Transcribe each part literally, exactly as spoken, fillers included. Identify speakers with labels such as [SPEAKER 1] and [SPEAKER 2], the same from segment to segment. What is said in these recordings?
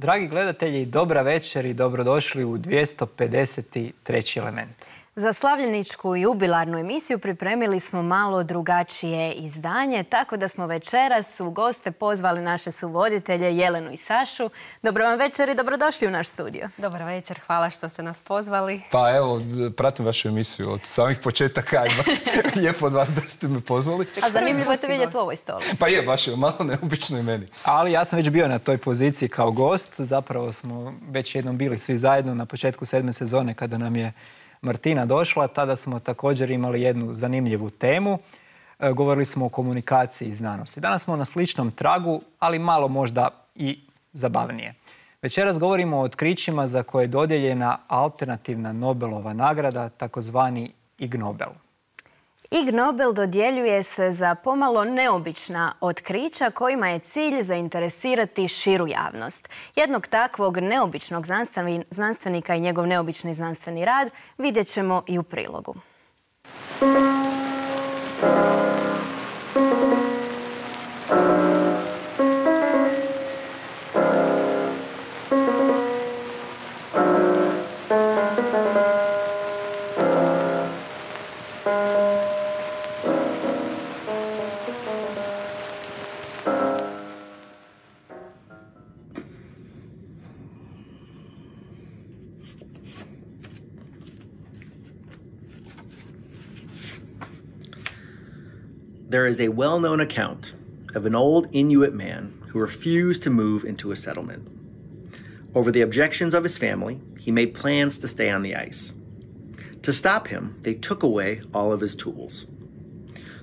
[SPEAKER 1] Dragi gledatelji, dobra večer i dobrodošli u dvjesto pedeset treći element.
[SPEAKER 2] Za slavljeničku jubilarnu emisiju pripremili smo malo drugačije izdanje, tako da smo večeras u goste pozvali naše suvoditelje Jelenu i Sašu. Dobro vam večer i dobrodošli u naš studio.
[SPEAKER 3] Dobar večer, hvala što ste nas pozvali.
[SPEAKER 4] Pa evo, pratim vašu emisiju od samih početaka. Lijepo od vas da ste me pozvali.
[SPEAKER 2] A zanimljivo je te vidjeti u ovoj stolici.
[SPEAKER 4] Pa je, baš je malo neobično i meni.
[SPEAKER 1] Ali ja sam već bio na toj poziciji kao gost. Zapravo smo već jednom bili svi zajedno na početku sedme sezone kada nam je Martina došla. Tada smo također imali jednu zanimljivu temu. E, govorili smo o komunikaciji i znanosti. Danas smo na sličnom tragu, ali malo možda i zabavnije. Večeras govorimo o otkrićima za koje je dodijeljena alternativna Nobelova nagrada, takozvani Ig Nobel.
[SPEAKER 2] Ig Nobel dodjeljuje se za pomalo neobična otkrića kojima je cilj zainteresirati širu javnost. Jednog takvog neobičnog znanstvenika i njegov neobični znanstveni rad vidjet ćemo i u prilogu.
[SPEAKER 5] There is a well-known account of an old Inuit man who refused to move into a settlement. Over the objections of his family, he made plans to stay on the ice. To stop him, they took away all of his tools.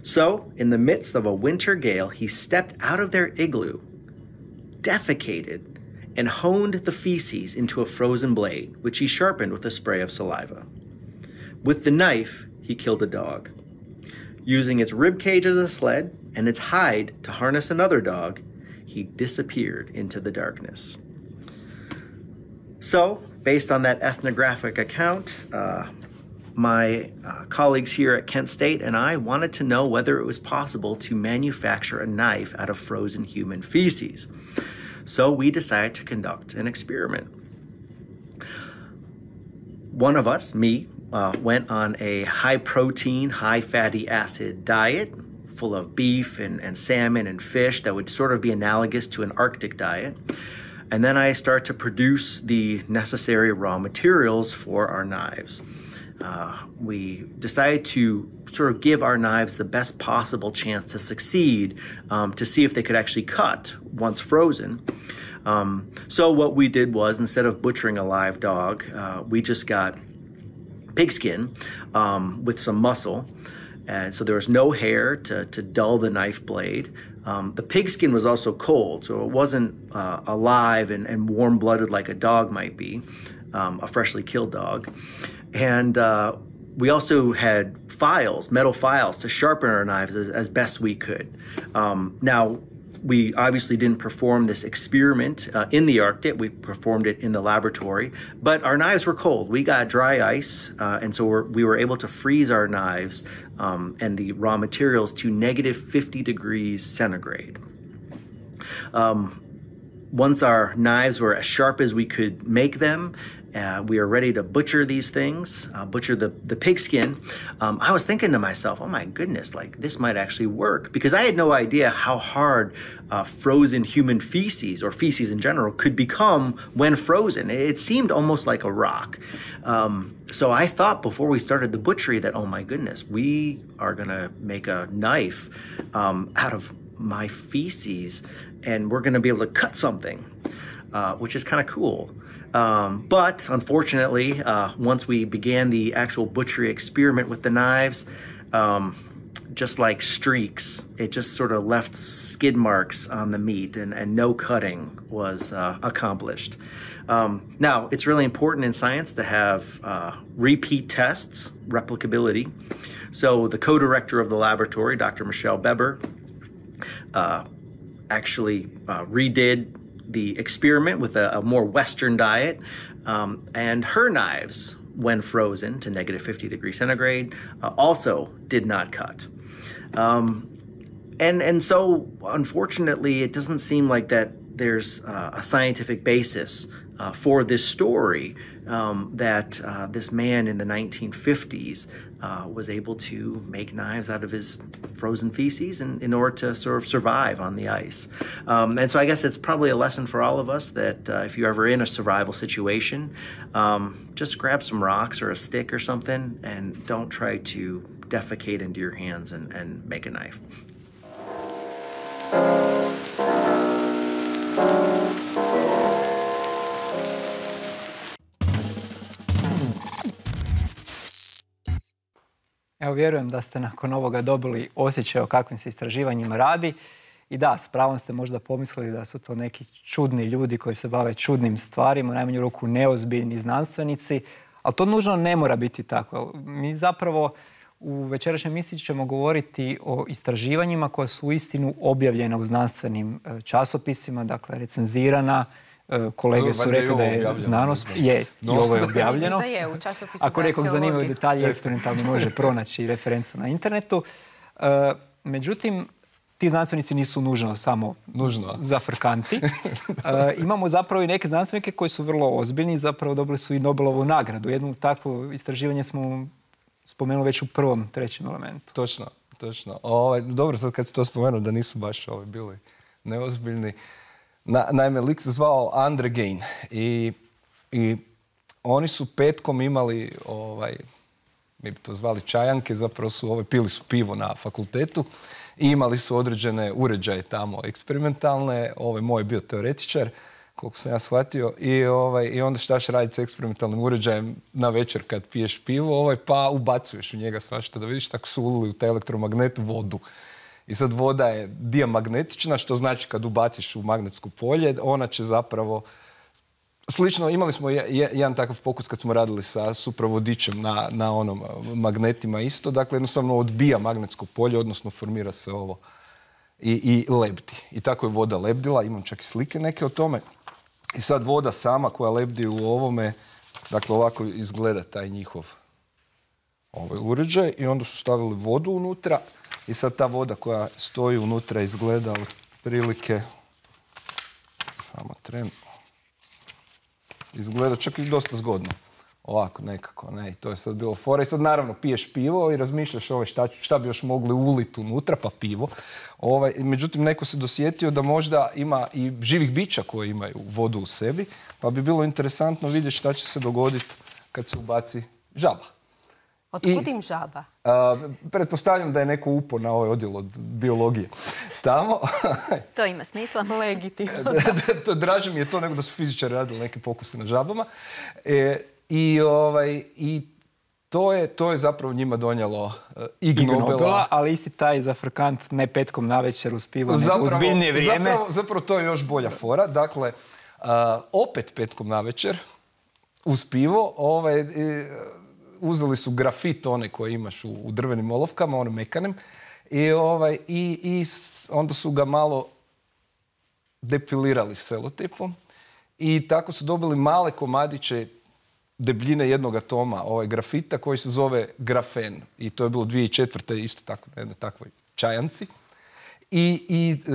[SPEAKER 5] So, in the midst of a winter gale, he stepped out of their igloo, defecated, and honed the feces into a frozen blade, which he sharpened with a spray of saliva. With the knife, he killed a dog. Using its rib cage as a sled and its hide to harness another dog, he disappeared into the darkness. So, based on that ethnographic account, uh, my uh, colleagues here at Kent State and I wanted to know whether it was possible to manufacture a knife out of frozen human feces. So we decided to conduct an experiment. One of us, me, Uh, went on a high-protein, high-fatty acid diet full of beef and, and salmon and fish that would sort of be analogous to an Arctic diet. And then I start to produce the necessary raw materials for our knives. Uh, we decided to sort of give our knives the best possible chance to succeed, um, to see if they could actually cut once frozen. Um, so what we did was, instead of butchering a live dog, uh, we just got pigskin um, with some muscle, and so there was no hair to, to dull the knife blade. Um, the pigskin was also cold, so it wasn't uh, alive and, and warm-blooded like a dog might be, um, a freshly killed dog. And uh, we also had files, metal files, to sharpen our knives as, as best we could. Um, now, we obviously didn't perform this experiment uh, in the Arctic. We performed it in the laboratory, but our knives were cold. We got dry ice, uh, and so we're, we were able to freeze our knives um, and the raw materials to negative fifty degrees centigrade. Um, once our knives were as sharp as we could make them, Uh, we are ready to butcher these things, uh, butcher the, the pigskin. Um, I was thinking to myself, oh my goodness, like this might actually work, because I had no idea how hard uh, frozen human feces, or feces in general, could become when frozen. It seemed almost like a rock. Um, so I thought before we started the butchery that, oh my goodness, we are gonna make a knife um, out of my feces, and we're gonna be able to cut something, uh, which is kind of cool. Um, but unfortunately, uh, once we began the actual butchery experiment with the knives, um, just like streaks, it just sort of left skid marks on the meat, and, and no cutting was uh, accomplished. Um, now, it's really important in science to have uh, repeat tests, replicability. So the co-director of the laboratory, Doctor Michelle Beber, uh, actually uh, redid the experiment with a, a more Western diet, um, and her knives, when frozen to negative fifty degrees centigrade, uh, also did not cut. Um, and, and so, unfortunately, it doesn't seem like that there's uh, a scientific basis uh, for this story um, that uh, this man in the nineteen fifties uh, was able to make knives out of his frozen feces in, in order to sort of survive on the ice. Um, and so I guess it's probably a lesson for all of us that uh, if you're ever in a survival situation, um, just grab some rocks or a stick or something and don't try to defecate into your hands and, and make a knife.
[SPEAKER 1] Evo, vjerujem da ste nakon ovoga dobili osjećaj o kakvim se istraživanjima radi. I da, s pravom ste možda pomislili da su to neki čudni ljudi koji se bave čudnim stvarima, u najmanju ruku neozbiljni znanstvenici, ali to nužno ne mora biti tako. Mi zapravo u večerašnjoj emisiji ćemo govoriti o istraživanjima koja su uistinu objavljena u znanstvenim časopisima, dakle recenzirana. Kolege su rekli da je znanost, je, i ovo je objavljeno. Ako nekog zanimaju detalji, eksperimentalno može pronaći referencu na internetu. Međutim, ti znanstvenici nisu nužno samo zafrkanti. Imamo zapravo i neke znanstvenike koji su vrlo ozbiljni, zapravo dobili su i Nobelovu nagradu. Jedno takvo istraživanje smo spomenuli već u prvom, trećem elementu.
[SPEAKER 4] Točno, točno. Ovaj, dobro, sad kad si to spomenuo da nisu baš ovaj, bili neozbiljni. Na, naime, lik se zvao Andre Gein i, i oni su petkom imali, ovaj, mi bi to zvali čajanke, zapravo su ovaj, pili su pivo na fakultetu i imali su određene uređaje tamo eksperimentalne. Ovaj, moj je bio teoretičar, koliko sam ja shvatio, i, ovaj, i onda štaš raditi s eksperimentalnim uređajem na večer kad piješ pivo, ovaj, pa ubacuješ u njega svašta da vidiš, tako su ulili u taj elektromagnet vodu. I sad voda je diamagnetična, što znači kad ubaciš u magnetsko polje, ona će zapravo... Slično, imali smo jedan takav pokus kad smo radili sa supravodičem na, na onom magnetima isto. Dakle, jednostavno odbija magnetsko polje, odnosno formira se ovo i, i lebdi. I tako je voda lebdila, imam čak i slike neke o tome. I sad voda sama koja lebdi u ovome, dakle ovako izgleda taj njihov ovaj uređaj i onda su stavili vodu unutra. I sad ta voda koja stoji unutra izgleda otprilike, samo tren, izgleda čak i dosta zgodno. Ovako nekako, ne, i to je sad bilo fora. I sad naravno piješ pivo i razmišljaš ovaj, šta, šta bi još mogli uliti unutra, pa pivo. Ovaj, međutim, neko se dosjetio da možda ima i živih bića koji imaju vodu u sebi, pa bi bilo interesantno vidjeti šta će se dogoditi kad se ubaci žaba.
[SPEAKER 3] Otkud im žaba?
[SPEAKER 4] A, pretpostavljam da je neko upao na ovaj odjel od biologije tamo.
[SPEAKER 2] To ima smisla.
[SPEAKER 3] Legitimno.
[SPEAKER 4] to, draže mi je to nego da su fizičari radili neke pokuse na žabama. E, i, ovaj, I to je, to je zapravo njima donijelo uh, Ig Nobela.
[SPEAKER 1] Nobela. Ali isti taj zafrkant ne petkom navečer uz pivo, nego uz biljnije vrijeme.
[SPEAKER 4] Zapravo, zapravo to je još bolja fora. Dakle, uh, opet petkom navečer uz pivo, ovaj, i, uzeli su grafit one koje imaš u, u drvenim olovkama, onim mekanim, i, ovaj, i, i onda su ga malo depilirali selotipom i tako su dobili male komadiće debljine jednog atoma ovaj, grafita koji se zove grafen. I to je bilo dvije tisuće četvrte isto tako na jednoj takvoj čajanci. I, i e,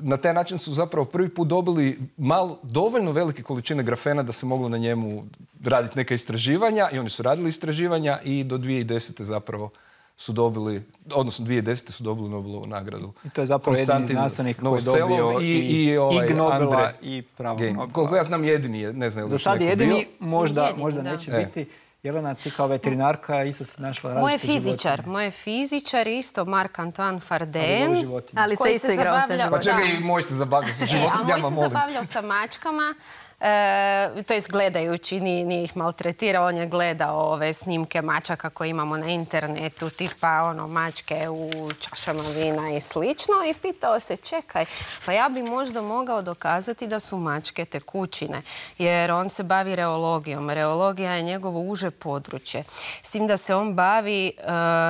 [SPEAKER 4] na taj način su zapravo prvi put dobili malo, dovoljno velike količine grafena da se moglo na njemu raditi neka istraživanja i oni su radili istraživanja i do dvije tisuće desete zapravo su dobili, odnosno dvije tisuće desete su dobili Nobelovu nagradu.
[SPEAKER 1] I to je zapravo jedini znanstvenik koji je dobio i, i, i ovaj Ig Nobela i pravog Nobela.
[SPEAKER 4] Koliko ja znam jedini je, ne znam je li
[SPEAKER 1] za sad jedini,
[SPEAKER 4] bio.
[SPEAKER 1] možda,
[SPEAKER 3] jedini,
[SPEAKER 1] možda
[SPEAKER 3] da.
[SPEAKER 1] neće e. biti. Jelena, ti kao veterinarka isto se našla različite
[SPEAKER 3] Moj je fizičar, moj je fizičar isto Marc-Antoine Farden,
[SPEAKER 2] ali
[SPEAKER 3] koji
[SPEAKER 2] se
[SPEAKER 3] se
[SPEAKER 2] igrao sa
[SPEAKER 3] zabavljao.
[SPEAKER 4] Pa čekaj, i moj se zabavljao sa životinjama,
[SPEAKER 3] e, a moj se zabavljao sa mačkama. E, to je gledajući, nije, nije ih maltretirao, on je gledao ove snimke mačaka koje imamo na internetu, tipa ono, mačke u čašama vina i slično, i pitao se, čekaj, pa ja bi možda mogao dokazati da su mačke tekućine, jer on se bavi reologijom. Reologija je njegovo uže područje, s tim da se on bavi uh,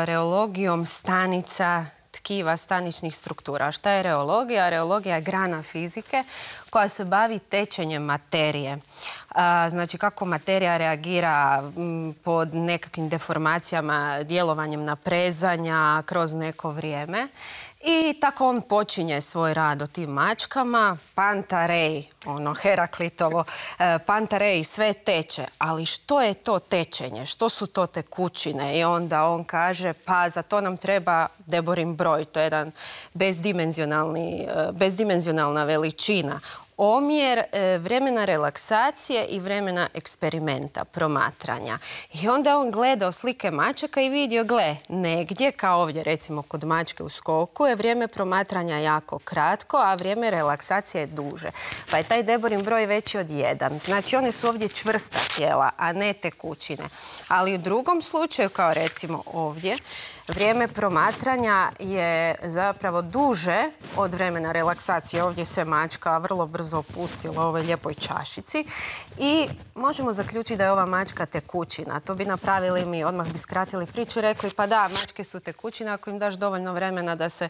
[SPEAKER 3] reologijom stanica, tkiva, staničnih struktura. Šta je reologija? Reologija je grana fizike koja se bavi tečenjem materije. A, znači kako materija reagira m, pod nekakvim deformacijama, djelovanjem naprezanja kroz neko vrijeme. I tako on počinje svoj rad o tim mačkama. Pantarej, ono Heraklitovo, e, Pantarej sve teče. Ali što je to tečenje? Što su to tekućine? I onda on kaže, pa za to nam treba Deborin broj. To je jedan bezdimenzionalni, bezdimenzionalna veličina. Omjer e, vremena relaksacije i vremena eksperimenta, promatranja. I onda on gledao slike mačaka i vidio, gle, negdje, kao ovdje recimo kod mačke u skoku, je vrijeme promatranja jako kratko, a vrijeme relaksacije je duže. Pa je taj Deborin broj veći od jedan. Znači one su ovdje čvrsta tijela, a ne tekućine. Ali u drugom slučaju, kao recimo ovdje, vrijeme promatranja je zapravo duže od vremena relaksacije. Ovdje se mačka vrlo brzo opustila u ovoj lijepoj čašici i možemo zaključiti da je ova mačka tekućina. To bi napravili mi, odmah bi skratili priču i rekli pa da, mačke su tekućine ako im daš dovoljno vremena da se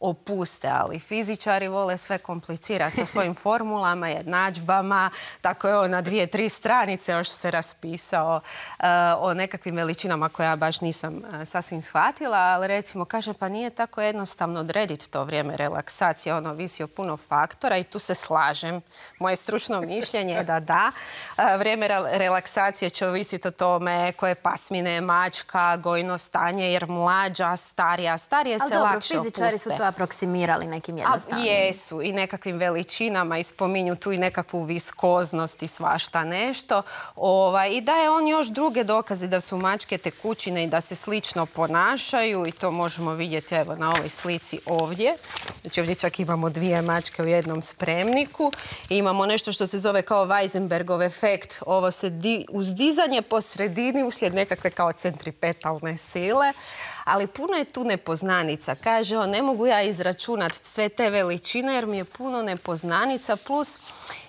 [SPEAKER 3] opuste, ali fizičari vole sve komplicirati sa svojim formulama, jednadžbama, tako je on na dvije, tri stranice još se raspisao uh, o nekakvim veličinama koje ja baš nisam uh, sasvim shvatila, ali recimo kaže pa nije tako jednostavno odrediti to vrijeme relaksacije, ono visi o puno faktora i tu se slažem. Moje stručno mišljenje je da da, uh, vrijeme relaksacije će ovisiti o tome koje pasmine je mačka, gojno stanje, jer mlađa, starija, starije se lakše opuste.
[SPEAKER 2] Aproksimirali nekim jednostavnim.
[SPEAKER 3] Jesu i nekakvim veličinama i spominju tu i nekakvu viskoznost i svašta nešto. Ovaj, I daje on još druge dokaze da su mačke tekućine i da se slično ponašaju i to možemo vidjeti evo na ovoj slici ovdje. Znači ovdje čak imamo dvije mačke u jednom spremniku i imamo nešto što se zove kao Weisenbergov efekt. Ovo se di, uzdizanje po sredini uslijed nekakve kao centripetalne sile, ali puno je tu nepoznanica. Kaže on, ne mogu ja izračunati sve te veličine jer mi je puno nepoznanica, plus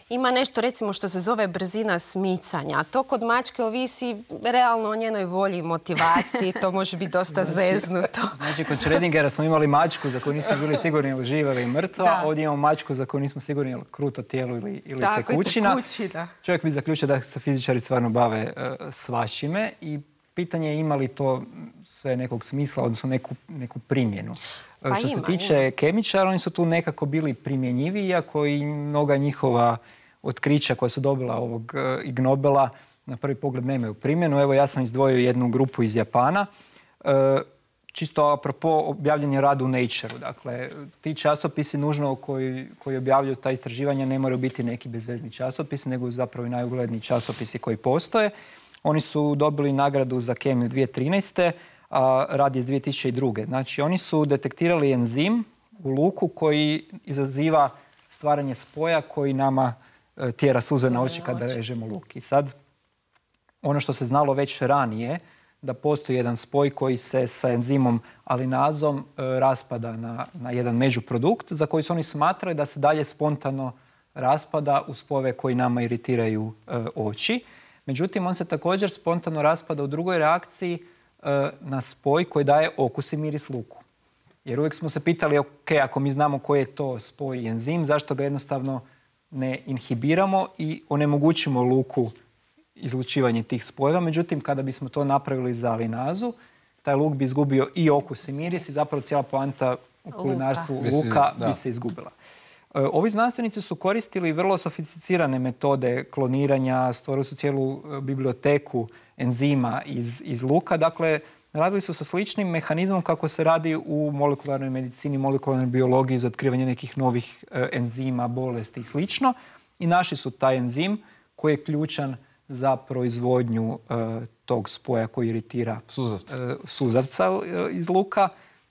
[SPEAKER 3] ima nešto recimo što se zove brzina smicanja. To kod mačke ovisi realno o njenoj volji i motivaciji. To može biti dosta zeznuto.
[SPEAKER 1] Znači kod Schrödingera smo imali mačku za koju nismo bili sigurni ili živa ili mrtva. Da. Ovdje imamo mačku za koju nismo sigurni ili kruto tijelo ili, ili
[SPEAKER 3] Tako,
[SPEAKER 1] tekućina.
[SPEAKER 3] tekućina.
[SPEAKER 1] Čovjek bi zaključio da se fizičari stvarno bave uh, svačime i pitanje je ima li to sve nekog smisla, odnosno neku, neku primjenu.
[SPEAKER 3] Pa
[SPEAKER 1] što
[SPEAKER 3] ima,
[SPEAKER 1] se tiče ima. kemičara, oni su tu nekako bili primjenjivi, iako i mnoga njihova otkrića koja su dobila ovog uh, Ig Nobela na prvi pogled nemaju primjenu. Evo ja sam izdvojio jednu grupu iz Japana. Uh, čisto apropo objavljanje rada u Nature-u. Dakle, ti časopisi nužno koji, koji objavljuju ta istraživanja ne moraju biti neki bezvezni časopisi, nego zapravo i najugledniji časopisi koji postoje. Oni su dobili nagradu za kemiju dvije tisuće trinaeste. a rad je iz dvije tisuće druge. Znači, oni su detektirali enzim u luku koji izaziva stvaranje spoja koji nama e, tjera suze na oči kada režemo luk. I sad, ono što se znalo već ranije, da postoji jedan spoj koji se sa enzimom alinazom e, raspada na, na jedan međuprodukt za koji su oni smatrali da se dalje spontano raspada u spojeve koji nama iritiraju e, oči. Međutim, on se također spontano raspada u drugoj reakciji e, na spoj koji daje okus i miris luku. Jer uvijek smo se pitali, ok, ako mi znamo koji je to spoj i enzim, zašto ga jednostavno ne inhibiramo i onemogućimo luku izlučivanje tih spojeva. Međutim, kada bismo to napravili za alinazu, taj luk bi izgubio i okus i miris i zapravo cijela poanta u kulinarstvu luka, luka bi se izgubila. E, ovi znanstvenici su koristili vrlo sofisticirane metode kloniranja, stvorili su cijelu biblioteku enzima iz, iz luka. Dakle, radili su sa sličnim mehanizmom kako se radi u molekularnoj medicini, molekularnoj biologiji za otkrivanje nekih novih e, enzima, bolesti i slično. I našli su taj enzim koji je ključan za proizvodnju e, tog spoja koji iritira
[SPEAKER 4] Suzavca.
[SPEAKER 1] E, suzavca e, iz luka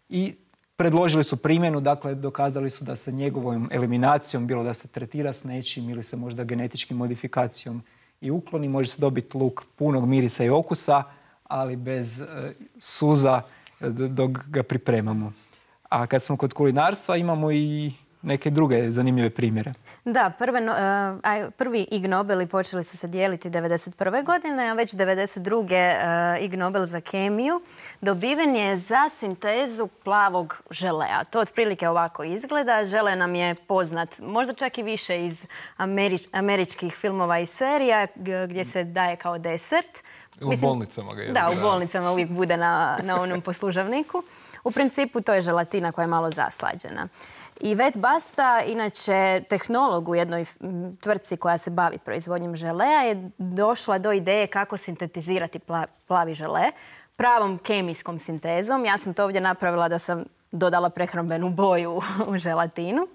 [SPEAKER 1] i predložili su primjenu, dakle dokazali su da se njegovom eliminacijom, bilo da se tretira s nečim ili se možda genetičkim modifikacijom i ukloni, može se dobiti luk punog mirisa i okusa, ali bez e, suza dok ga pripremamo. A kad smo kod kulinarstva imamo i neke druge zanimljive primjere.
[SPEAKER 2] Da, prve, uh, prvi Ig Nobeli počeli su se dijeliti devedeset prve godine, a već devedeset druge Uh, Ig Nobel za kemiju dobiven je za sintezu plavog želea. To otprilike ovako izgleda. Žele nam je poznat, možda čak i više iz američ, američkih filmova i serija gdje se daje kao desert.
[SPEAKER 4] U Mislim, bolnicama ga je.
[SPEAKER 2] Da, u bolnicama uvijek bude na, na onom poslužavniku. U principu to je želatina koja je malo zaslađena. I Vet Basta, inače tehnolog u jednoj tvrtci koja se bavi proizvodnjom želea, je došla do ideje kako sintetizirati plavi žele pravom kemijskom sintezom. Ja sam to ovdje napravila da sam dodala prehrambenu boju u želatinu.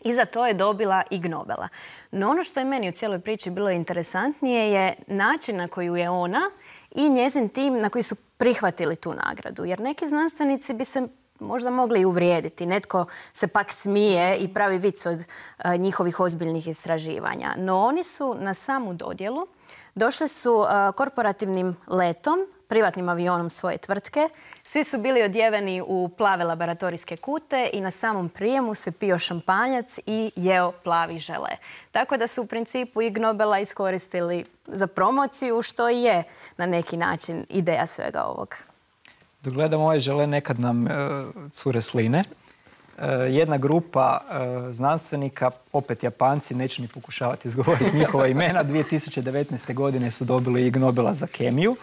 [SPEAKER 2] I za to je dobila Ig Nobela. No ono što je meni u cijeloj priči bilo interesantnije je način na koji je ona i njezin tim na koji su prihvatili tu nagradu. Jer neki znanstvenici bi se možda mogli i uvrijediti. Netko se pak smije i pravi vic od uh, njihovih ozbiljnih istraživanja. No oni su na samu dodjelu došli su uh, korporativnim letom, privatnim avionom svoje tvrtke. Svi su bili odjeveni u plave laboratorijske kute i na samom prijemu se pio šampanjac i jeo plavi žele. Tako da su u principu Ig Nobela iskoristili za promociju, što i je na neki način ideja svega ovog.
[SPEAKER 1] Dok gledamo ovaj žele, nekad nam e, cure sline. E, jedna grupa e, znanstvenika, opet Japanci, neću ni pokušavati izgovoriti njihova imena, dvije tisuće devetnaeste. godine su dobili Ig Nobela za kemiju.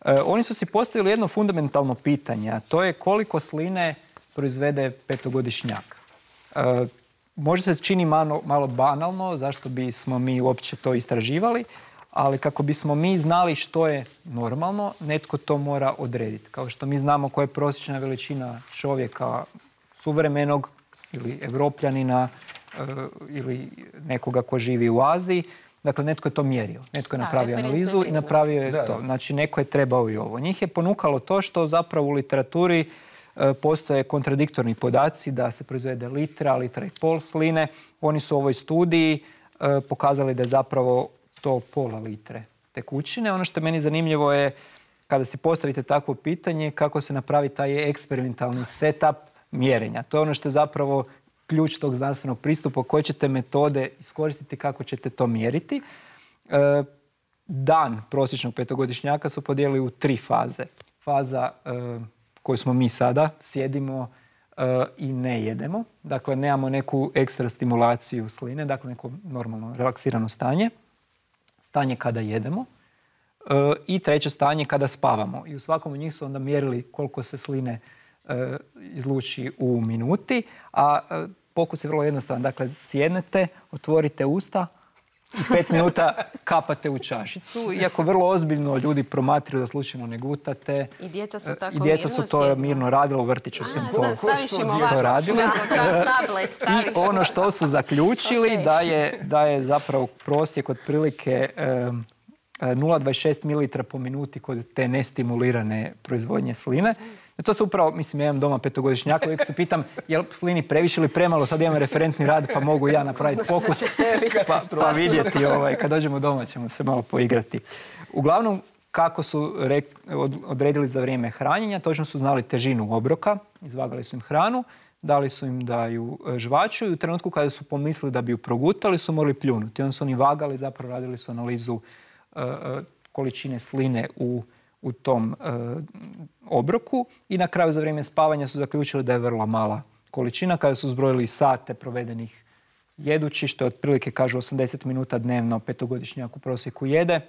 [SPEAKER 1] E, oni su si postavili jedno fundamentalno pitanje, a to je koliko sline proizvede petogodišnjak. E, možda se čini malo, malo banalno, zašto bismo mi uopće to istraživali, ali kako bismo mi znali što je normalno, netko to mora odrediti. Kao što mi znamo koja je prosječna veličina čovjeka suvremenog ili Evropljanina ili nekoga ko živi u Aziji. Dakle, netko je to mjerio. Netko je napravio analizu i napravio je to. Znači, neko je trebao i ovo. Njih je ponukalo to što zapravo u literaturi postoje kontradiktorni podaci da se proizvede litra, litra i pol sline. Oni su u ovoj studiji pokazali da je zapravo to pola litre tekućine. Ono što je meni zanimljivo je kada si postavite takvo pitanje kako se napravi taj eksperimentalni setup mjerenja. To je ono što je zapravo ključ tog znanstvenog pristupa, koje ćete metode iskoristiti, kako ćete to mjeriti. E, dan prosječnog petogodišnjaka su podijelili u tri faze. Faza e, koju smo mi sada, sjedimo e, i ne jedemo. Dakle, nemamo neku ekstra stimulaciju sline, dakle neko normalno relaksirano stanje. Stanje kada jedemo e, i treće stanje kada spavamo. I u svakom od njih su onda mjerili koliko se sline e, izluči u minuti, a e, pokus je vrlo jednostavan. Dakle, sjednete, otvorite usta i pet minuta kapate u čašicu. Iako vrlo ozbiljno ljudi promatraju da slučajno ne gutate.
[SPEAKER 3] I djeca su tako
[SPEAKER 1] I djeca su to
[SPEAKER 3] sjedno.
[SPEAKER 1] mirno radila, u vrtiću
[SPEAKER 3] A,
[SPEAKER 1] sam
[SPEAKER 3] zna, staviš im
[SPEAKER 1] to radila.
[SPEAKER 3] Tablet staviš.
[SPEAKER 1] I ono što su zaključili okay. da, je, da je zapravo prosjek otprilike um, nula zarez dvadeset šest mililitara po minuti kod te nestimulirane proizvodnje sline. I to su upravo, mislim, ja imam doma petogodišnjaka, uvijek se pitam je li slini previše ili premalo, sad imam referentni rad pa mogu ja napraviti pokus pa, pa vidjeti, ovaj, kad dođemo doma ćemo se malo poigrati. Uglavnom, kako su rek, od, odredili za vrijeme hranjenja, točno su znali težinu obroka, izvagali su im hranu, dali su im da ju žvaču i u trenutku kada su pomislili da bi ju progutali su morali pljunuti. Onda su oni vagali, zapravo radili su analizu uh, količine sline u u tom e, obroku i na kraju za vrijeme spavanja su zaključili da je vrlo mala količina. Kada su zbrojili sate provedenih jedući, što je otprilike, kažu, osamdeset minuta dnevno petogodišnjak u prosjeku jede,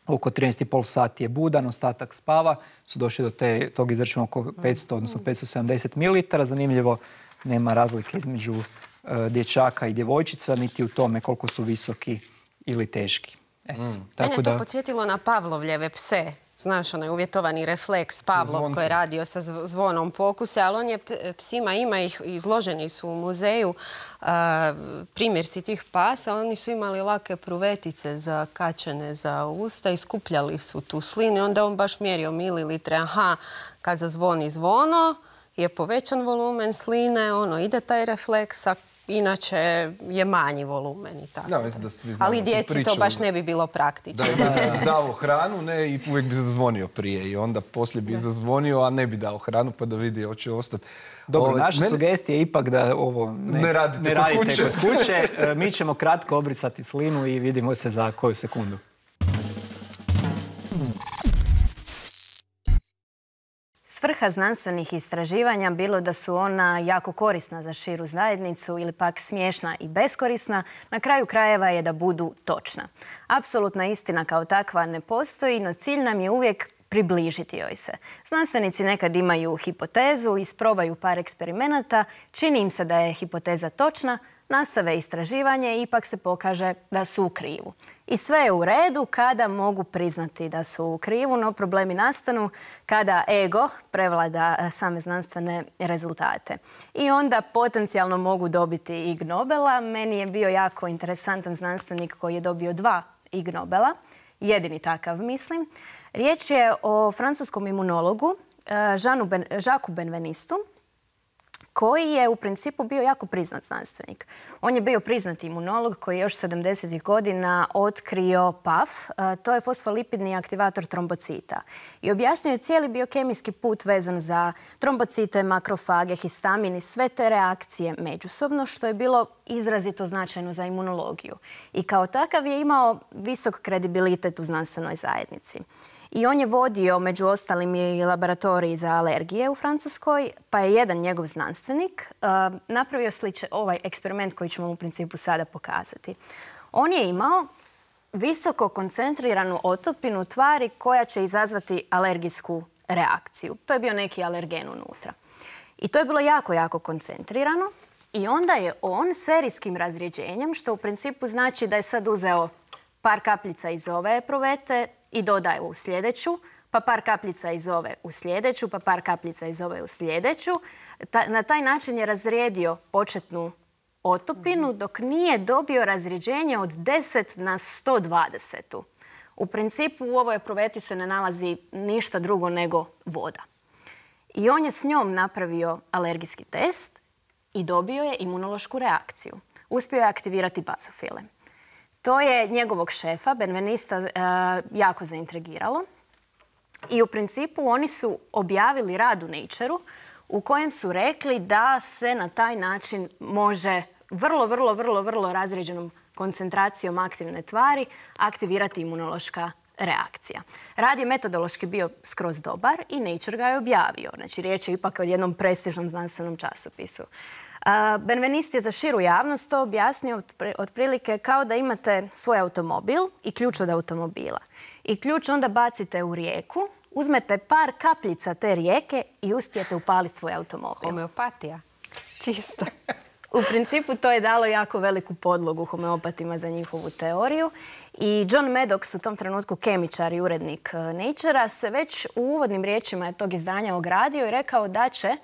[SPEAKER 1] oko trinaest i pol sati je budan, ostatak spava, su došli do te, tog izračuna oko petsto, odnosno petsto sedamdeset mililitara. Zanimljivo, nema razlike između e, dječaka i djevojčica, niti u tome koliko su visoki ili teški. Eto,
[SPEAKER 3] mm.
[SPEAKER 1] tako
[SPEAKER 3] Mene
[SPEAKER 1] da...
[SPEAKER 3] to podsjetilo na Pavlovljeve pse. Znaš, onaj uvjetovani refleks Pavlov koji je radio sa zvonom pokuse, ali on je psima, ima ih, izloženi su u muzeju a, primjerci tih pasa. Oni su imali ovakve pruvetice zakačene za usta i skupljali su tu slinu i onda on baš mjerio mililitre. Aha, kad zazvoni zvono je povećan volumen sline, ono, ide taj refleks, a inače je manji volumen i tako.
[SPEAKER 4] Da, mislim da svi znamo
[SPEAKER 3] Ali
[SPEAKER 4] tu
[SPEAKER 3] djeci to
[SPEAKER 4] priču.
[SPEAKER 3] baš ne bi bilo praktično.
[SPEAKER 4] Da je dao hranu, ne, i uvijek bi zazvonio prije i onda poslije bi zazvonio, a ne bi dao hranu pa da vidi hoće ostati.
[SPEAKER 1] Dobro,
[SPEAKER 4] Ove,
[SPEAKER 1] naša
[SPEAKER 4] mene-
[SPEAKER 1] sugestija je ipak da ovo ne,
[SPEAKER 4] Ne radite
[SPEAKER 1] ne
[SPEAKER 4] kod
[SPEAKER 1] radite
[SPEAKER 4] kuće.
[SPEAKER 1] kod kuće. E, Mi ćemo kratko obrisati slinu i vidimo se za koju sekundu.
[SPEAKER 2] Svrha znanstvenih istraživanja, bilo da su ona jako korisna za širu zajednicu ili pak smiješna i beskorisna, na kraju krajeva je da budu točna. Apsolutna istina kao takva ne postoji, no cilj nam je uvijek približiti joj se. Znanstvenici nekad imaju hipotezu, isprobaju par eksperimenata, čini im se da je hipoteza točna, nastave istraživanje i ipak se pokaže da su u krivu. I sve je u redu kada mogu priznati da su u krivu, no problemi nastanu kada ego prevlada same znanstvene rezultate. I onda potencijalno mogu dobiti Ig Nobela. Meni je bio jako interesantan znanstvenik koji je dobio dva Ig Nobela. Jedini takav, mislim. Riječ je o francuskom imunologu Jeanu Ben, Jacques Benvenistu, koji je u principu bio jako priznat znanstvenik. On je bio priznati imunolog koji je još sedamdesetih godina otkrio P A F, to je fosfolipidni aktivator trombocita. I objasnio je cijeli biokemijski put vezan za trombocite, makrofage, histamin i sve te reakcije međusobno, što je bilo izrazito značajno za imunologiju. I kao takav je imao visok kredibilitet u znanstvenoj zajednici. I on je vodio, među ostalim, i laboratorij za alergije u Francuskoj, pa je jedan njegov znanstvenik uh, napravio sličan ovaj eksperiment koji ćemo u principu sada pokazati. On je imao visoko koncentriranu otopinu tvari koja će izazvati alergijsku reakciju. To je bio neki alergen unutra. I to je bilo jako, jako koncentrirano. I onda je on serijskim razrjeđenjem, što u principu znači da je sad uzeo par kapljica iz ove epruvete i dodaje u sljedeću, pa par kapljica iz ove u sljedeću, pa par kapljica iz ove u sljedeću. Ta, na taj način je razrijedio početnu otopinu dok nije dobio razrijeđenje od deset na sto dvadeset. U principu u ovoj epruveti se ne nalazi ništa drugo nego voda. I on je s njom napravio alergijski test i dobio je imunološku reakciju. Uspio je aktivirati bazofile. To je njegovog šefa, Benvenista, jako zaintrigiralo. I u principu oni su objavili rad u Natureu u kojem su rekli da se na taj način može vrlo, vrlo, vrlo, vrlo razrijeđenom koncentracijom aktivne tvari aktivirati imunološka reakcija. Rad je metodološki bio skroz dobar i Nature ga je objavio. Znači, riječ je ipak o jednom prestižnom znanstvenom časopisu. Benveniste je za širu javnost to objasnio otprilike kao da imate svoj automobil i ključ od automobila. I ključ onda bacite u rijeku, uzmete par kapljica te rijeke i uspijete upaliti svoj automobil.
[SPEAKER 3] Homeopatija. Čisto.
[SPEAKER 2] U principu to je dalo jako veliku podlogu homeopatima za njihovu teoriju. I John Maddox, u tom trenutku kemičar i urednik Naturea, se već u uvodnim riječima tog izdanja ogradio i rekao da će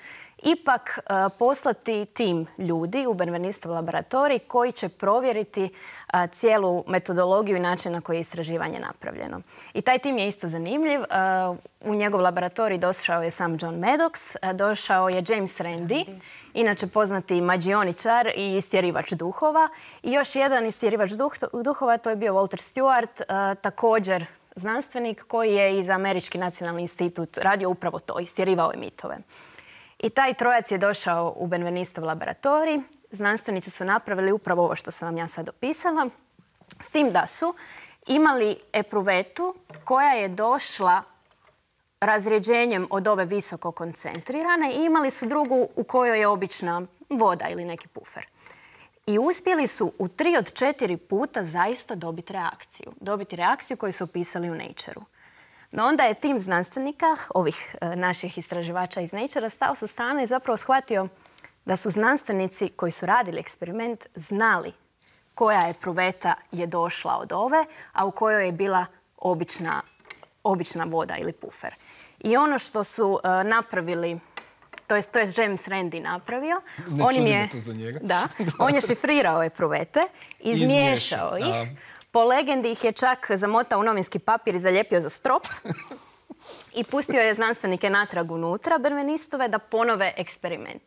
[SPEAKER 2] ipak uh, poslati tim ljudi u Benvenistov laboratorij koji će provjeriti uh, cijelu metodologiju i način na koji je istraživanje napravljeno. I taj tim je isto zanimljiv. Uh, u njegov laboratorij došao je sam John Maddox, uh, došao je James Randi, inače poznati mađioničar i istjerivač duhova. I još jedan istjerivač duh, duhova, to je bio Walter Stewart, uh, također znanstvenik koji je iz Američki nacionalni institut radio upravo to, istjerivao je mitove. I taj trojac je došao u Benvenistov laboratorij. Znanstvenici su napravili upravo ovo što sam vam ja sad opisala, s tim da su imali epruvetu koja je došla razrijeđenjem od ove visoko koncentrirane i imali su drugu u kojoj je obična voda ili neki pufer. I uspjeli su u tri od četiri puta zaista dobiti reakciju. Dobiti reakciju koju su opisali u Natureu. No onda je tim znanstvenika, ovih e, naših istraživača iz Naturea, stao sa strane i zapravo shvatio da su znanstvenici koji su radili eksperiment znali koja epruveta je došla od ove, a u kojoj je bila obična, obična voda ili pufer. I ono što su e, napravili, to je, to je James Randi napravio,
[SPEAKER 4] Ne
[SPEAKER 2] on, im je,
[SPEAKER 4] čudimo to za njega.
[SPEAKER 2] da, on je šifrirao epruvete, izmiješao
[SPEAKER 4] Izmiješao,
[SPEAKER 2] ih. Po legendi ih je čak zamotao u novinski papir i zalijepio za strop i pustio je znanstvenike natrag unutra Benvenistove da ponove eksperiment.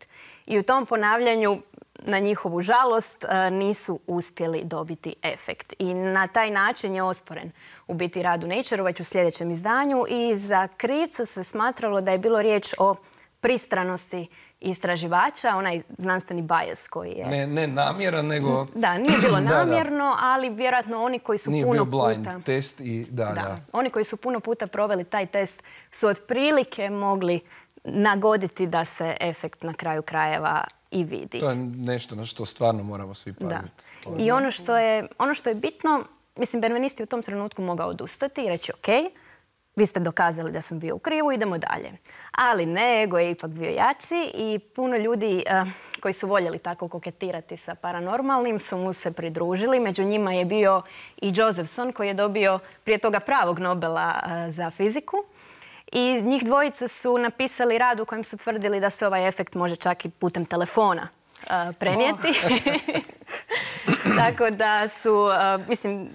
[SPEAKER 2] I u tom ponavljanju na njihovu žalost nisu uspjeli dobiti efekt. I na taj način je osporen u biti rad u Nature-u već u sljedećem izdanju i za krivca se smatralo da je bilo riječ o pristranosti istraživača, onaj znanstveni bias koji je...
[SPEAKER 4] Ne, ne namjeran, nego...
[SPEAKER 2] Da, nije bilo namjerno,
[SPEAKER 4] da, da.
[SPEAKER 2] ali vjerojatno oni koji su
[SPEAKER 4] nije
[SPEAKER 2] puno
[SPEAKER 4] bio blind
[SPEAKER 2] puta...
[SPEAKER 4] test i da, da,
[SPEAKER 2] da. Oni koji su puno puta proveli taj test su otprilike mogli nagoditi da se efekt na kraju krajeva i vidi.
[SPEAKER 4] To je nešto na što stvarno moramo svi paziti.
[SPEAKER 2] Da. I ono što je, ono što je bitno, mislim, Benveniste je u tom trenutku mogao odustati i reći ok, vi ste dokazali da sam bio u krivu, idemo dalje. Ali ne, ego je ipak bio jači i puno ljudi uh, koji su voljeli tako koketirati sa paranormalnim su mu se pridružili. Među njima je bio i Josephson koji je dobio prije toga pravog Nobela uh, za fiziku. I njih dvojica su napisali rad u kojem su tvrdili da se ovaj efekt može čak i putem telefona uh, prenijeti. Oh. Tako da su, uh, mislim,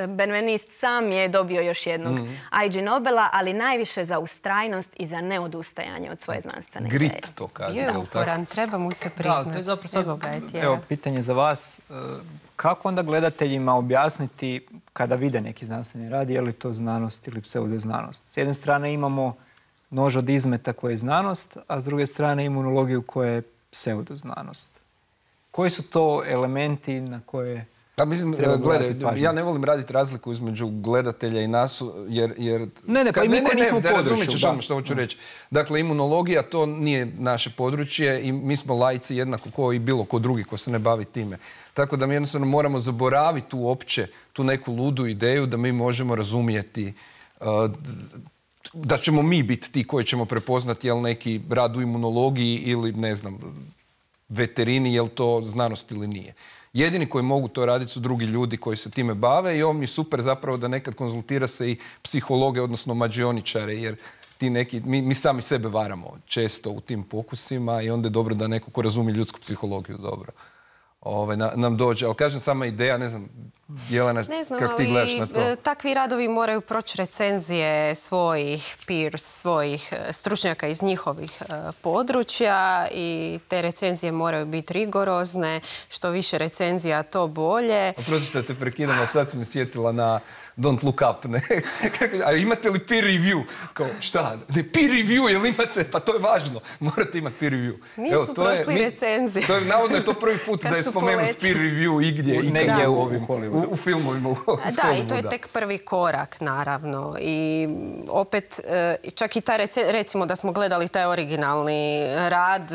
[SPEAKER 2] Benveniste sam je dobio još jednog mm. I G Nobela, ali najviše za ustrajnost i za neodustajanje od svoje znanstvene ideje.
[SPEAKER 4] Grit to kaže.
[SPEAKER 3] Je uporan, treba mu se priznati.
[SPEAKER 1] Da, to je zapravo, evo, pitanje za vas. Kako onda gledateljima objasniti kada vide neki znanstveni rad, je li to znanost ili pseudoznanost? S jedne strane imamo nož od izmeta koje je znanost, a s druge strane imunologiju koja je pseudoznanost. Koji su to elementi na koje
[SPEAKER 4] Pa mislim, gledaj, ja ne volim raditi razliku između gledatelja i nas, jer... jer
[SPEAKER 1] ne, ne, pa i mi koji nismo u području.
[SPEAKER 4] Razumit ćeš ono što hoću reći. Dakle, imunologija to nije naše područje i mi smo laici jednako kao i bilo ko drugi ko se ne bavi time. Tako da mi jednostavno moramo zaboraviti uopće tu neku ludu ideju da mi možemo razumijeti uh, da ćemo mi biti ti koji ćemo prepoznati jel neki rad u imunologiji ili, ne znam, veterini, jel to znanost ili nije. Jedini koji mogu to raditi su drugi ljudi koji se time bave i ovo mi je super zapravo da nekad konzultira se i psihologe, odnosno mađioničare, jer ti neki, mi, mi sami sebe varamo često u tim pokusima i onda je dobro da neko ko razumije ljudsku psihologiju dobro Ove, na, nam dođe. Ali kažem, sama ideja, ne znam, Jelena, kako ti gledaš na to?
[SPEAKER 3] Takvi radovi moraju proći recenzije svojih peers, svojih stručnjaka iz njihovih uh, područja i te recenzije moraju biti rigorozne. Što više recenzija, to bolje.
[SPEAKER 4] Oprostite, te prekidam, a sad sam me sjetila na Don't Look Up, ne? A imate li peer review? Kao, šta? Ne, peer review, jel imate? Pa to je važno. Morate imati peer review.
[SPEAKER 3] Nisu Evo, to prošli je, recenzije.
[SPEAKER 4] To je, navodno je to prvi put da je spomenut peer review igdje i negdje u ovim u, u filmovima. U
[SPEAKER 3] da, i to je tek prvi korak, naravno. I opet, čak i ta, recimo da smo gledali taj originalni rad,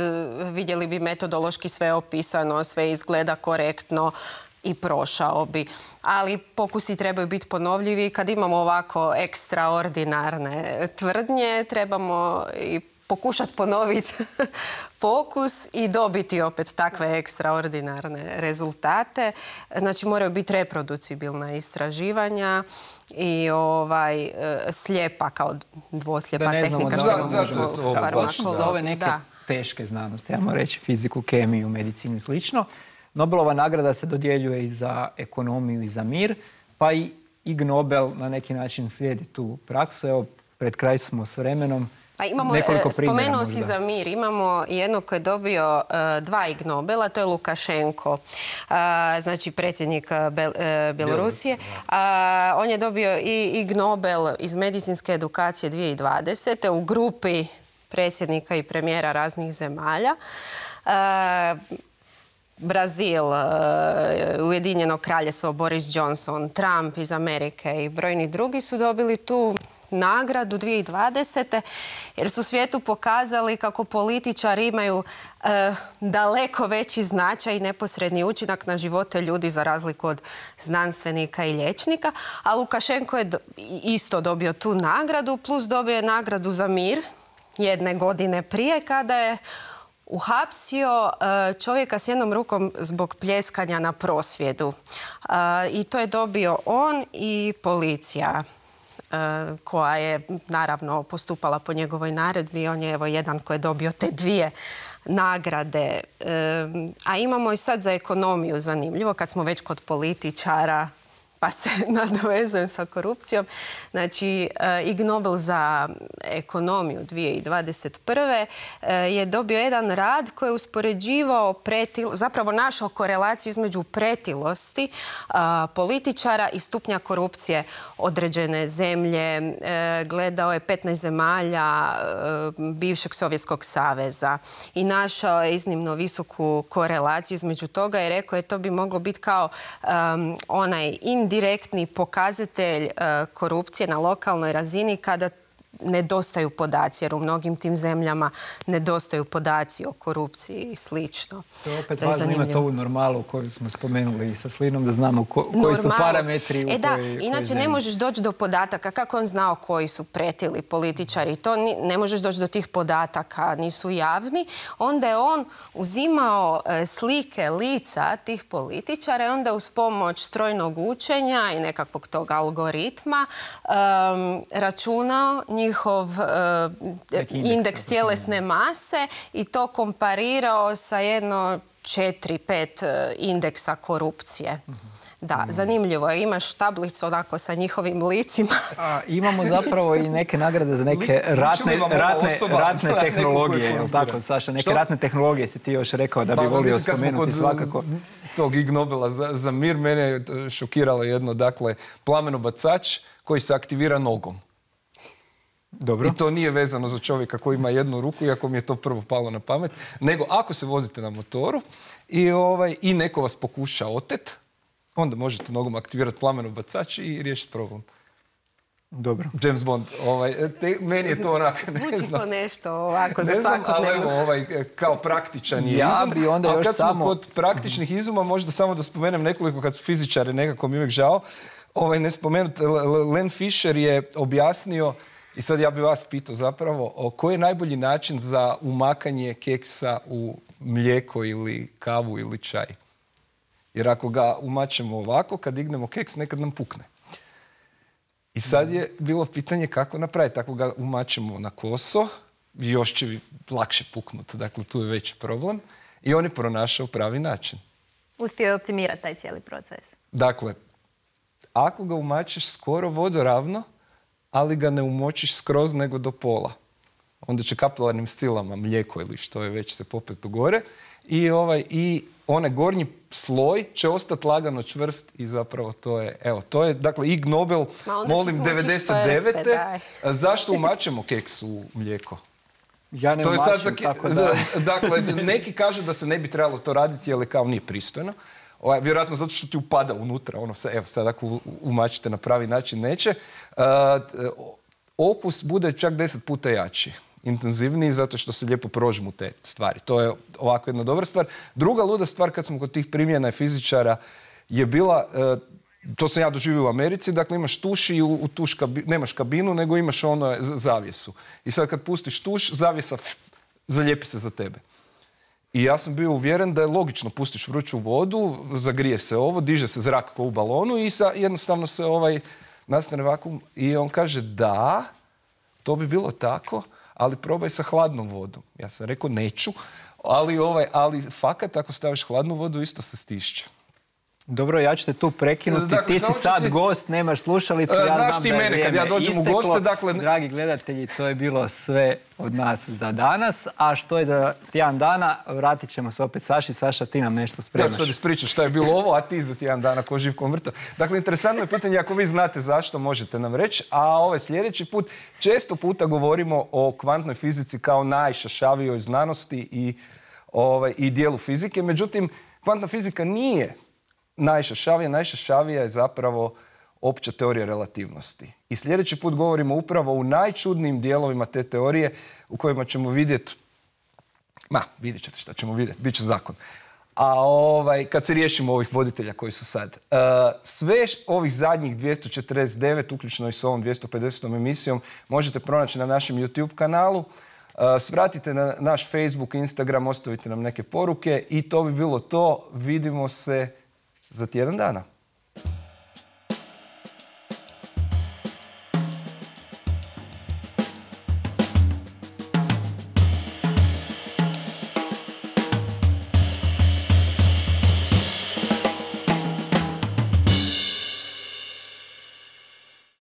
[SPEAKER 3] vidjeli bi metodološki sve opisano, sve izgleda korektno i prošao bi. Ali pokusi trebaju biti ponovljivi. Kad imamo ovako ekstraordinarne tvrdnje, trebamo i pokušati ponoviti pokus i dobiti opet takve ekstraordinarne rezultate. Znači, moraju biti reproducibilna istraživanja i ovaj, slijepa kao dvoslijepa tehnika.
[SPEAKER 1] Za ove neke teške znanosti, ajmo reći fiziku, kemiju, medicinu i slično. Nobelova nagrada se dodjeljuje i za ekonomiju i za mir, pa i Ig Nobel na neki način slijedi tu praksu. Evo, pred kraj smo s vremenom.
[SPEAKER 3] Pa imamo, spomenuo si za mir, imamo jednog koji je dobio uh, dva Ig Nobela, to je Lukašenko, uh, znači predsjednik Bel, uh, Bjelorusije. Uh, on je dobio i Ig Nobel iz medicinske edukacije dvije tisuće dvadesete u grupi predsjednika i premijera raznih zemalja. Uh, Brazil, Ujedinjeno kraljevstvo, Boris Johnson, Trump iz Amerike i brojni drugi su dobili tu nagradu dvije tisuće dvadesete jer su svijetu pokazali kako političari imaju e, daleko veći značaj i neposredni učinak na živote ljudi za razliku od znanstvenika i liječnika. A Lukašenko je do, isto dobio tu nagradu, plus dobio je nagradu za mir jedne godine prije kada je uhapsio čovjeka s jednom rukom zbog pljeskanja na prosvjedu. I to je dobio on i policija koja je naravno postupala po njegovoj naredbi. On je evo jedan koji je dobio te dvije nagrade. A imamo i sad za ekonomiju zanimljivo, kad smo već kod političara, pa se nadovezujem sa korupcijom. Znači, Ig Nobel za ekonomiju dvije tisuće dvadeset prve. je dobio jedan rad koji je uspoređivao pretil, zapravo našao korelaciju između pretilosti političara i stupnja korupcije određene zemlje. Gledao je petnaest zemalja bivšeg Sovjetskog saveza i našao je iznimno visoku korelaciju između toga i rekao je to bi moglo biti kao um, onaj indirektni pokazatelj uh, korupcije na lokalnoj razini kada nedostaju podaci, jer u mnogim tim zemljama nedostaju podaci o korupciji i slično.
[SPEAKER 1] To je opet važno imati ovu normalu koju smo spomenuli i sa Slinom, da znamo ko, koji su parametri u
[SPEAKER 3] e, da,
[SPEAKER 1] kojoj,
[SPEAKER 3] inače
[SPEAKER 1] kojoj
[SPEAKER 3] ne možeš doći do podataka kako on znao koji su pretili političari. To ni, ne možeš doći do tih podataka, nisu javni. Onda je on uzimao e, slike lica tih političara i onda uz pomoć strojnog učenja i nekakvog tog algoritma um, računao njihov uh, indeks tjelesne mase i to komparirao sa jedno četiri pet uh, indeksa korupcije. Da, zanimljivo je. Imaš tablicu onako sa njihovim licima.
[SPEAKER 1] A, imamo zapravo i neke nagrade za neke ratne, ratne, ratne tehnologije. Je tako, Saša? Neke Što? ratne tehnologije si ti još rekao da bi volio mislim, spomenuti svakako.
[SPEAKER 4] Tog Ig Nobela za, za mir mene je šokiralo jedno, dakle, plamenobacač koji se aktivira nogom.
[SPEAKER 1] Dobro.
[SPEAKER 4] I to nije vezano za čovjeka koji ima jednu ruku, iako mi je to prvo palo na pamet, nego ako se vozite na motoru i, ovaj, i neko vas pokuša otet, onda možete nogom aktivirati plamenobacač i riješiti problem.
[SPEAKER 1] Dobro.
[SPEAKER 4] James Bond, ovaj, te, meni je to onako, ne
[SPEAKER 3] Zvuči
[SPEAKER 4] znam.
[SPEAKER 3] ko nešto ovako za
[SPEAKER 4] ne znam,
[SPEAKER 3] svakodnevno.
[SPEAKER 4] ali evo, ovaj, kao praktičan je
[SPEAKER 1] ja
[SPEAKER 4] izum.
[SPEAKER 1] bi onda
[SPEAKER 4] ali
[SPEAKER 1] još
[SPEAKER 4] kad
[SPEAKER 1] samo...
[SPEAKER 4] smo kod praktičnih izuma, možda samo da spomenem nekoliko, kad su fizičari, nekako mi uvijek žao, ovaj, ne spomenuti, Len Fisher je objasnio, i sad ja bih vas pitao zapravo, o, koji je najbolji način za umakanje keksa u mlijeko ili kavu ili čaj? Jer ako ga umačemo ovako, kad dignemo keks, nekad nam pukne. I sad je bilo pitanje kako napraviti. Ako ga umačemo na koso, još će lakše puknuti. Dakle, tu je veći problem. I on je pronašao pravi način.
[SPEAKER 2] Uspio je optimirati taj cijeli proces.
[SPEAKER 4] Dakle, ako ga umačeš skoro vodoravno, ali ga ne umočiš skroz nego do pola, onda će kapilarnim silama mlijeko ili što je već se popet do gore i, ovaj, i onaj gornji sloj će ostati lagano čvrst i zapravo to je, evo, to je, dakle, Ig Nobel, molim, devedeset devete Zašto umačemo keks u mlijeko?
[SPEAKER 1] Ja ne
[SPEAKER 4] to je
[SPEAKER 1] umačim,
[SPEAKER 4] sad za,
[SPEAKER 1] tako da...
[SPEAKER 4] Dakle, neki kažu da se ne bi trebalo to raditi, jer kao nije pristojno. Ovaj, vjerojatno zato što ti upada unutra. Ono, evo, sad ako umačite na pravi način, neće. Uh, okus bude čak deset puta jači, intenzivniji, zato što se lijepo prožmu te stvari. To je ovako jedna dobra stvar. Druga luda stvar, kad smo kod tih primjena fizičara, je bila, uh, to sam ja doživio u Americi, dakle imaš tuš i u, u tuš kabi, nemaš kabinu, nego imaš ono zavjesu. I sad kad pustiš tuš, zavjesa pff, zalijepi se za tebe. I ja sam bio uvjeren da je logično, pustiš vruću vodu, zagrije se ovo, diže se zrak kao u balonu i sa, jednostavno se ovaj nastane vakuum. I on kaže da, to bi bilo tako, ali probaj sa hladnom vodom. Ja sam rekao neću, ali, ovaj, ali fakat ako staviš hladnu vodu isto se stišće.
[SPEAKER 1] Dobro, ja ću te tu prekinuti.
[SPEAKER 4] Dakle,
[SPEAKER 1] ti si sad ti... gost, nemaš slušalicu. Ja
[SPEAKER 4] Znaš
[SPEAKER 1] znam
[SPEAKER 4] ti
[SPEAKER 1] da je
[SPEAKER 4] mene, kad ja dođem
[SPEAKER 1] isteklo.
[SPEAKER 4] u goste, dakle...
[SPEAKER 1] Dragi gledatelji, to je bilo sve od nas za danas. A što je za tjedan dana, vratit ćemo se opet Saši. Saša, ti nam nešto spremaš.
[SPEAKER 4] Ja ću sad ispričati šta je bilo ovo, a ti za tjedan dana ko živ ko mrtav. Dakle, interesantno je pitanje, ako vi znate zašto, možete nam reći. A ovaj sljedeći put, često puta govorimo o kvantnoj fizici kao najšašavijoj znanosti i, ovaj, i dijelu fizike. Međutim, kvantna fizika nije najšašavija. Najšašavija je zapravo opća teorija relativnosti. I sljedeći put govorimo upravo u najčudnijim dijelovima te teorije u kojima ćemo vidjeti, ma, vidjet ćete šta ćemo vidjeti, bit će zakon. A ovaj, kad se riješimo ovih voditelja koji su sad. Uh, sve ovih zadnjih dvjesto četrdeset devet, uključno i s ovom dvjesto pedesetom emisijom, možete pronaći na našem YouTube kanalu. Uh, svratite na naš Facebook, Instagram, ostavite nam neke poruke i to bi bilo to. Vidimo se za tjedan dana.